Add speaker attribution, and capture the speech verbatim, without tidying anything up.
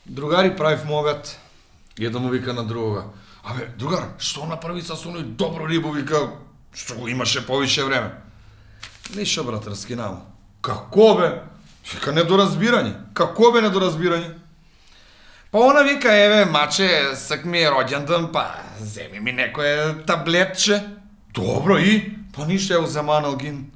Speaker 1: Другари, правив му обед. Едно му вика на другога. Абе, другар, што направи со оној добро рибо, вика, што го имаше повише време? Ништо, брат, раскинам. Како бе? Вика, недоразбирање. Како бе недоразбирање? Па она вика, еве, маче, сак ми е роѓендан, па земи ми некое таблетче. Добро, и? Па ништо, ево, заманал гин.